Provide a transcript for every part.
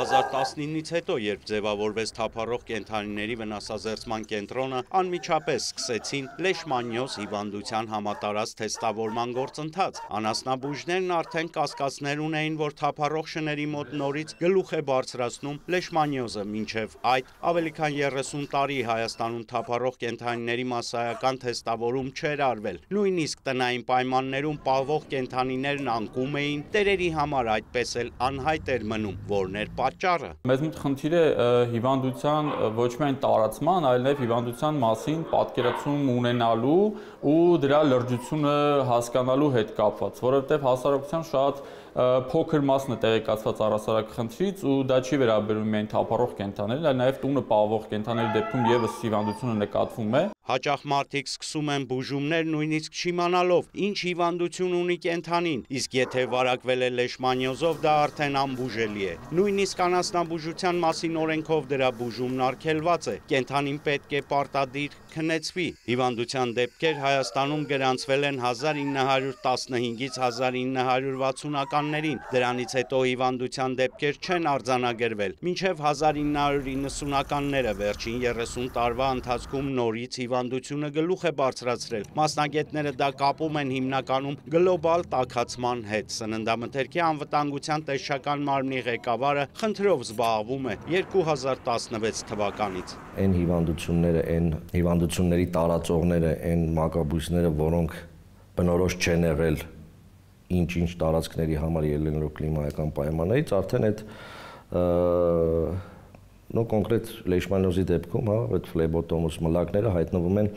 2019-ից հետո, երբ ձևավորվեց թափառող կենդանիների վնասազերծման կենտրոնը, անմիջապես սկսեցին լեշմանիոզ հիվանդության համատարած թեստավորման գործընթաց։ Անասնաբույժներն արդեն կասկածներ ունեին, որ թափառող շների մոտ նորից գլուխ է բարձրացնում լեշմանիոզը, մինչև այդ ավելի քան 30 տարի Հայաստանում թափառող կենդանիների մասսայական թեստավորում չէր արվել։ Նույնիսկ տնային պայմաններում պահվող կենդանիներն անկում էին, տերերի համար այդպես էլ անհայտ էր մնում, որն էր պատճառը։ Մեզ մոտ խնդիր է հիվանդության ոչ միայն տարածման, այլ նաև հիվանդության մասին պատկերացում ունենալու ու դրա լրջությունը հասկանալու հետ կապված, որովհետև հասարակության շատ փոքր մասն է տեղեկացված առհասարակ խնդրից ու դա չի վերաբերում միայն թափառող կենդանիներին, այլ նաև տունը պահվող կենդանիների դեպքում եւս հիվանդությունը նկատվում է։ Հաճախ մարդիկ սկսում են բուժումներ նույնիսկ չիմանալով, ինչ հիվանդություն ունի կենդանին, իսկ եթե վարակվել է լեշմանիոզով, դա արդեն անբուժելի է։ Նույնիսկ անասնաբուժության մասին օրենքով դրա բուժումն արգելված է։ Կենդանին պետք է պարտադիր քնեցվի։ Հիվանդության դեպքեր Հայաստանում գրանցվել են 1915-ից 1960-ականներին։ Դրանից հետո հիվանդության դեպքեր չեն արձանագրվել։ Մինչև 1990-ականները վերջին 30 տարվա ընթացքում նորից հիվանդությունը գլուխ է բարձրացրել։ Մասնագետները դա կապում են հիմնականում գլոբալ տաքացման հետ։ Սննդամթերքի անվտանգության տեսչական մարմնի ղեկավարը խնդրով զբաղվում է 2016 թվականից։ Այն հիվանդությունները, այն հիվանդությունների տարածողները, այն մակաբույսները, որոնք բնորոշ չեն եղել ինչ-ինչ տարածքների համար ելնելով կլիմայական պայմաններից, արդեն այդ կոնկրետ լեշմանիոզի դեպքում, այդ ֆլեբոտոմուս մլակները հայտնվում են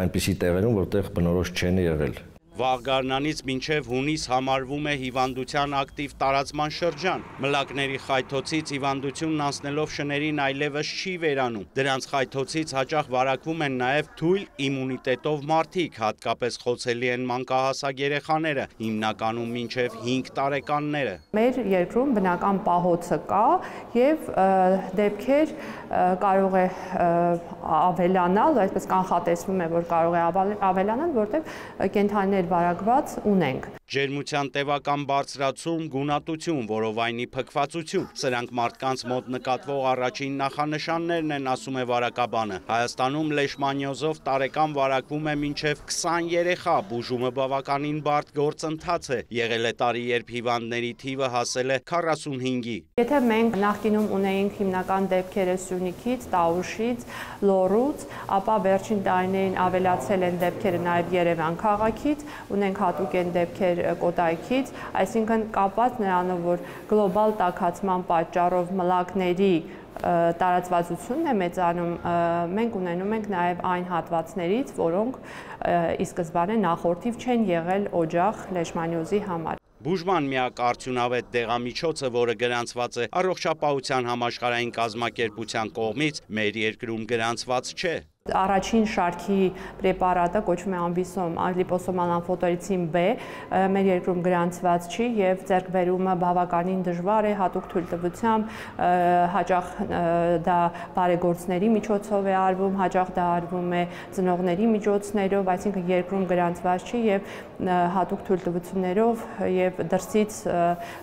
այնպիսի տեղերում, որտեղ բնորոշ չեն եղել։ Վաղ գարնանից մինչև հունիս համարվում է հիվանդության ակտիվ տարածման շրջան։ Մլակների խայթոցից հիվանդությունն անցնելով շներին այլևս չի վերանում։ Դրանց խայթոցից հաճախ վարակվում են նաև թույլ իմունիտետով մարդիկ, հատկապես խոցելի են մանկահասակ երեխաները, հիմնականում մինչև 5 տարեկանները։ Մեր երկրում բնական պահոցը կա եւ դեպքեր կարող է ավելանալ, այսպես կանխատեսվում է, որ կարող է ավելանալ, որտեղ կենդանիներ վարակված ունենք։ Ջերմության տևական բարձրացում, գունատություն, որովայնի փքվածություն, սրանք մարդկանց մոտ նկատվող առաջին նախանշաններն են, ասում է վարակաբանը։ Հայաստանում լեշմանիոզով տարեկան վարակվում է մինչև 20 երեխա, բուժումը բավականին բարդ գործընթաց է։ Եղել է տարի, երբ հիվանդների թիվը հասել է 45-ի։ Եթե մենք նախկինում ունեինք հիմնական դեպքերը Սյունիքից, Տաուշից, Լոռուց, ապա վերջին տարիներին ավելացել են դեպքերը նաև Երևան քաղաքից, ունենք հատուկ են դեպքեր Կոտայքից, այսինքն կապված նրանով, որ գլոբալ տաքացման պատճառով մլակների տարածվածությունն է մեծանում, մենք ունենում ենք նաև այն հատվածներից, որոնք ի սկզբանե նախորդիվ չեն եղել օջախ լեշմանիոզի համար։ Բուժման միակ արդյունավետ դեղամիջոցը, որը գրանցված է Առողջապահության համաշխարհային կազմակերպության կողմից, մեր երկրում գրանցված չէ։ Առաջին շարքի պրեպարատը կոչվում է ամբիսոմ, լիպոսոմալ ամֆոտերիցին B, մեր երկրում գրանցված չի եւ ձեռքբերումը բավականին դժվար է, հատուկ թույլտվությամբ, հաճախ դա բարեգործների միջոցով է արվում, հաճախ դա արվում է ծնողների միջոցներով, այսինքն երկրում գրանցված չի եւ հատուկ թույլտվություններով եւ դրսից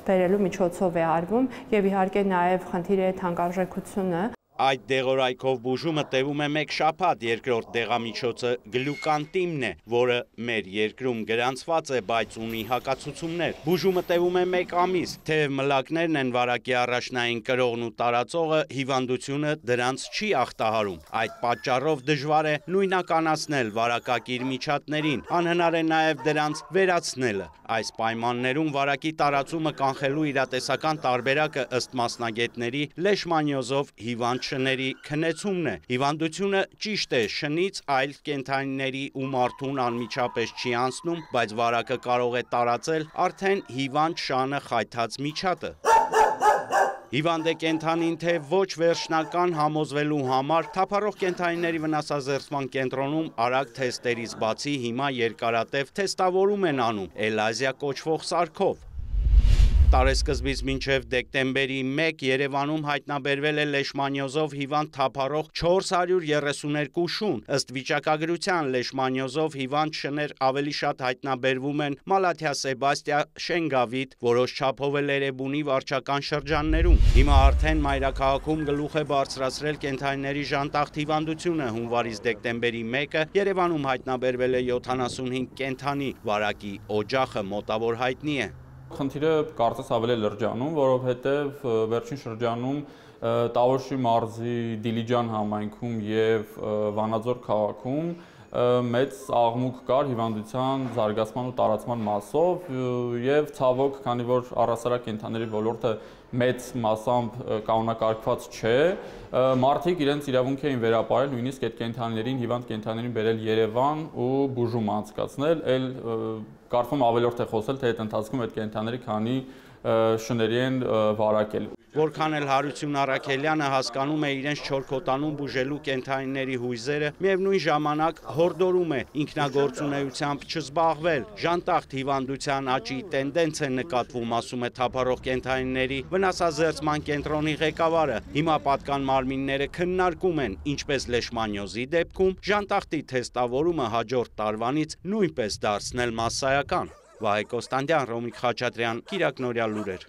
բերելու միջոցով է արվում եւ իհարկե նաեւ խնդիր է թանկարժեքությունը։ Այդ դեղորայքով բուժումը տևում է 1 շաբաթ, երկրորդ դեղամիջոցը գլյուկանտիմն է, որը մեր երկրում գրանցված է, բայց ունի հակացություններ։ Բուժումը տևում է 1 ամիս, թեև մլակներն են վարակի առաջնային կրողն ու տարածողը, հիվանդությունը դրանց չի ախտահարում։ Այդ պատճառով դժվար է նույնականացնել վարակակիր միջատներին, անհնար է նաև դրանց վերացնելը։ Այս պայմաններում վարակի տարածումը կանխելու իրատեսական տարբերակը ըստ մասնագետների լեշմանիոզով հիվանդ շների քնեցումն է։ Հիվանդությունը ճիշտ է շնից այլ կենդանիների ու մարդուն անմիջապես չի անցնում, բայց վարակը կարող է տարածել արդեն հիվանդ շանը խայթած միջատը։ Հիվանդ է կենդանին, թե ոչ վերջնական համոզվելու համար թափառող կենդանիների վնասազերծման կենտրոնում արագ թեստերից բացի հիմա երկարատև թեստավորում են անում էլազիա կոչվող սարքով։ Տարեսկզբից մինչև դեկտեմբերի 1 Երևանում հայտնաբերվել է լեշմանիոզով հիվանդ թափառող 432 շուն։ Ըստ վիճակագրության լեշմանիոզով հիվանդ շներ ավելի շատ հայտնաբերվում են Մալաթիա, Սեբաստիա, Շենգավիթ, որոշ չափով էլ Էրեբունի վարչական շրջաններում։ Հիմա արդեն մայրաքաղաքում գլուխ է բարձրացրել կենդանիների ժանտախտ հիվանդությունը։ Հունվարից դեկտեմբերի 1-ը Երևանում հայտնաբերվել է 75 կենդանի, վարակի օջախը մոտավոր հայտնի է։ Խնդիրը կարծես ավելի լրջանում, որովհետև վերջին շրջանում Տավուշի մարզի Դիլիջան համայնքում եւ Վանաձոր քաղաքում մեծ աղմուկ կար հիվանդության զարգացման ու տարածման մասով եւ ցավոք, քանի որ առհասարակ կենդանիների ոլորտը մեծ մասամբ կանոնակարգված չէ, մարդիկ իրենց իրավունք էին վերապահել նույնիսկ այդ կենդանիներին, հիվանդ կենդանիներին բերել Երևան ու բուժում անցկացնել, այլ կարծում ավելորդ է խոսել, թե այդ ընթացքում այդ կենդանիների քանի շների են վարակել։ Որքան էլ Հարություն Առաքելյանը հասկանում է իրենց չորքոտանում բուժելու կենդանիների հույզերը, միևնույն ժամանակ հորդորում է ինքնագործունեությամբ չզբաղվել։ Ժանտախտ հիվանդության աճի տենդենց է նկատվում, ասում է թափառող կենդանիների վնասազերծման կենտրոնի ղեկավարը։ Հիմա պատկան մարմինները քննարկում են, ինչպես լեշմանիոզի դեպքում ժանտախտի թեստավորումը հաջորդ տարվանից նույնպես դարձնել մասսայական։ Վահե Կոստանդյան, Ռոմիկ Խաչատրյան, Կիրակ Նորյալ լուրեր։